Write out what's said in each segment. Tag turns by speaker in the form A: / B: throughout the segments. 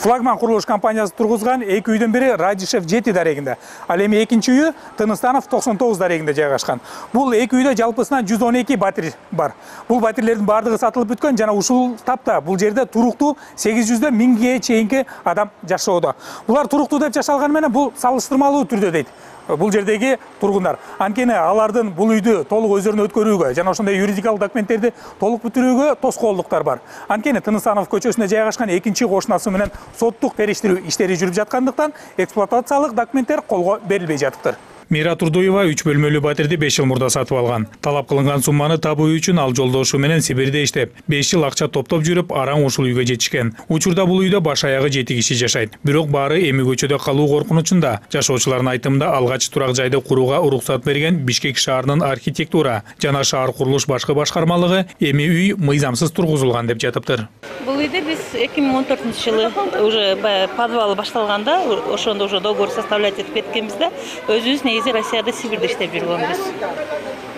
A: Флагман курулуш компаниясы тургузган 2 үйдөн бири Радишев 7 дарегинде. Ал эми экинчи үйү Тыныстанов 99 дарегинде жайгашкан. Бул 2 үйдө жалпысынан 112 батир бар. Бул батирлердин баардыгы сатылып бүткөн жана ушул тапта бул жерде туруктуу 800дөн 1000ге чейинки адам жашоодо. Булар туруктуу деп жашалганы менен бул салыштырмалуу түрдө дейт бул жердеги тургундар. Анткени алардын бул үйдү толук өздөрүнө өткөрүүгө жана ошондой юридикалык документтерди толук бүтүрүүгө тоскоолдуктар бар. Анткени Тыныстанов көчөсүндө жайгашкан экинчи кошунасы менен соттук териштирүү иштери жүрүп жаткандыктан эксплуатациялык документтер колго берилбей жатыптыр. Мира Турдуева 3 бөлмөлүү батирди 5 жыл мурда сатып алган. Талап кылынган сумманы табуу үчүн ал жолдошу менен Сибирде иштеп, 5 жыл акча топтоп жүрүп, араң ушул үйгө жетишкен. Учурда бул үйдө баш аягы 7 киши жашайт. Бирок баары эми көчөдө калуу коркунучунда. Жашоочулардын айтымында алгач турак жайды курууга уруксат берген Бишкек шаарынын архитектура жана шаар курулуш башкы башкармалыгы эми үй мыйзамсыз тургузулган деп жатыптыр.
B: Бул үйдө биз 2014-жылы уже подвал башталганда, ошондо уже договор составлять этип кеткенбизде, өзүбүз Россияда Сибирде иштеп жүргөнбүз.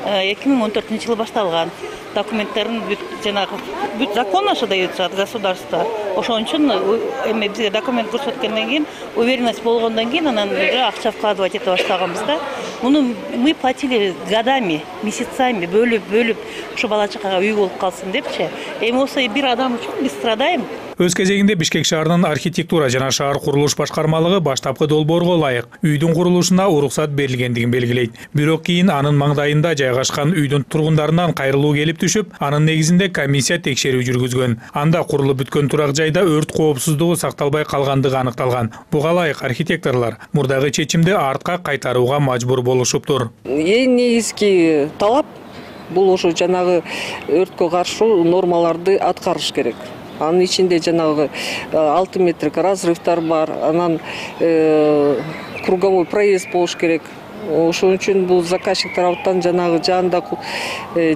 B: 2014-жылы башталган. Документтерин жанагы закон ошо дается от государства. Ошон үчүн эми бизге документ көрсөткөндөн кийин, уверенность болгондон кийин анан уже акча вкладывать эте баштаганбыз да. Муну мы платили годами, месяцами, бөлүп ошо бала чакага үй болуп калсын депчи. Эми осы бир адам үчүн биз страдаем.
A: Өз кезегинде Бишкек шаарынын архитектура жана шаар курулуш башкармалыгы баштапкы долбоорго ылайык үйдүн курулушуна уруксат берилгендигин белгилейт. Бирок кийин анын маңдайында жайгашкан үйдүн тургундарынан кайрылуу келип түшүп, анын негизинде комиссия текшерүү жүргүзгөн. Анда курулуп бүткөн турак жайда өрт коопсуздугу сакталбай калгандыгы аныкталган. Буга ылайык архитекторлор мурдагы чечимди артка кайтарууга мажбур болушуптур.
C: Эң негизги талап бул ошо жанагы өрткө каршы нормаларды аткарыш керек. Анын ичинде жанагы 6 метрлик разрывдар бар, анан круговой проезд болуш керек. Ошон үчүн бул заказчик тараптан жанагы жанында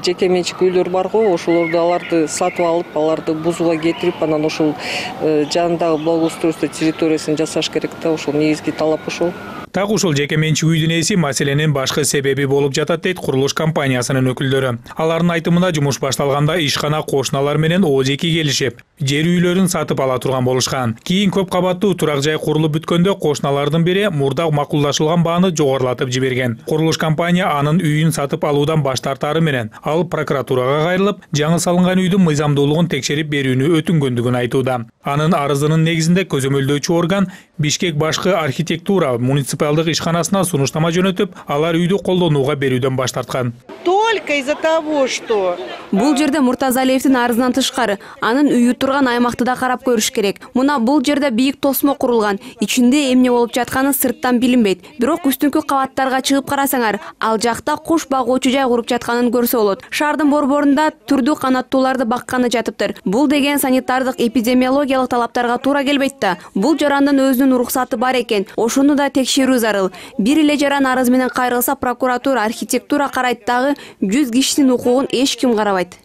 C: жеке менчик үйлөр барго, ошолорду аларды сатып алып, аларды бузууга кетирип, анан ошол жанындагы благоустройство территориясын жасаш керек да, ошол негизги талап ошол.
A: Так ушул жеке менчик үйдүн ээси маселенин башкы себеби болуп жатат дейт курулуш компаниясынын өкүлдөрү. Алардын айтымында жумуш башталганда ишкана кошуналар менен ооз-эки келишип, жер үйлөрүн сатып ала турган болушкан. Кийин көп кабаттуу турак жай курулуп бүткөндө кошуналардын бири мурда макулдашылган бааны жогорулатып жиберген. Курулуш компания анын үйүн сатып алуудан баш тартары менен ал прокуратурага кайрылып, жаңы салынган үйдүн мыйзамдуулугун текшерип берүүнү өтүнгөндүгүн айтууда. Анын арызынын негизинде көзөмөлдөөчү орган Бишкек башкы архитектура муниципалдык ишканасына сунуштама жөнөтүп, алар үйдү колдонууга берүүдөн баш тарткан.
D: Только из-за того, что
E: бул жерде Муртазалиевдин арызынан тышкары анын үйү турган аймакты да карап көрүш керек. Мына бул жерде бийик тосмо курулган, ичинде эмне болуп жатканы сырттан билинбейт. Бирок үстүнкү кабаттарга чыгып карасаңар, ал жакта куш багуучу жай куруп жатканын көрсө болот. Шаардын борборунда түрдүү канаттууларды бакканы жатыптыр. Бул деген санитардык эпидемиологиялык талаптарга туура келбейт да. Бул жарандын өзүнүн уруксаты бар экен. Ошону да текшерүү зарыл. Бир эле жаран арыз менен кайрылса, прокуратура, архитектура карайт дагы 100 кишинин укугун эч ким карабайт.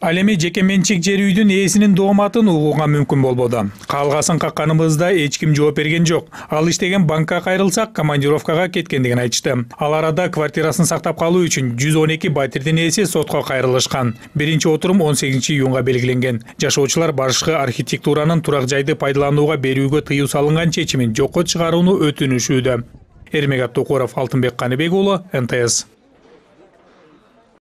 A: Ал эми жеке менчик жер үйдүн ээсинин дооматын угууга мүмкүн болбоду. Калгасын какканыбызда эч ким жооп берген жок. Ал иштеген банкка кайрылсак, командировкага кеткендигин айтышты. Ал арада квартирасын сактап калуу үчүн 112 батирдин ээси сотко кайрылышкан. Биринчи отурум 18-июнга белгиленген. Жашоочулар башкы архитектуранын турак жайды пайдаланууга берүүгө тыюу салынган чечимин жокко чыгарууну өтүнүшүүдө. Эрмегат Токуров, Алтынбек Каныбек уулу, НТС.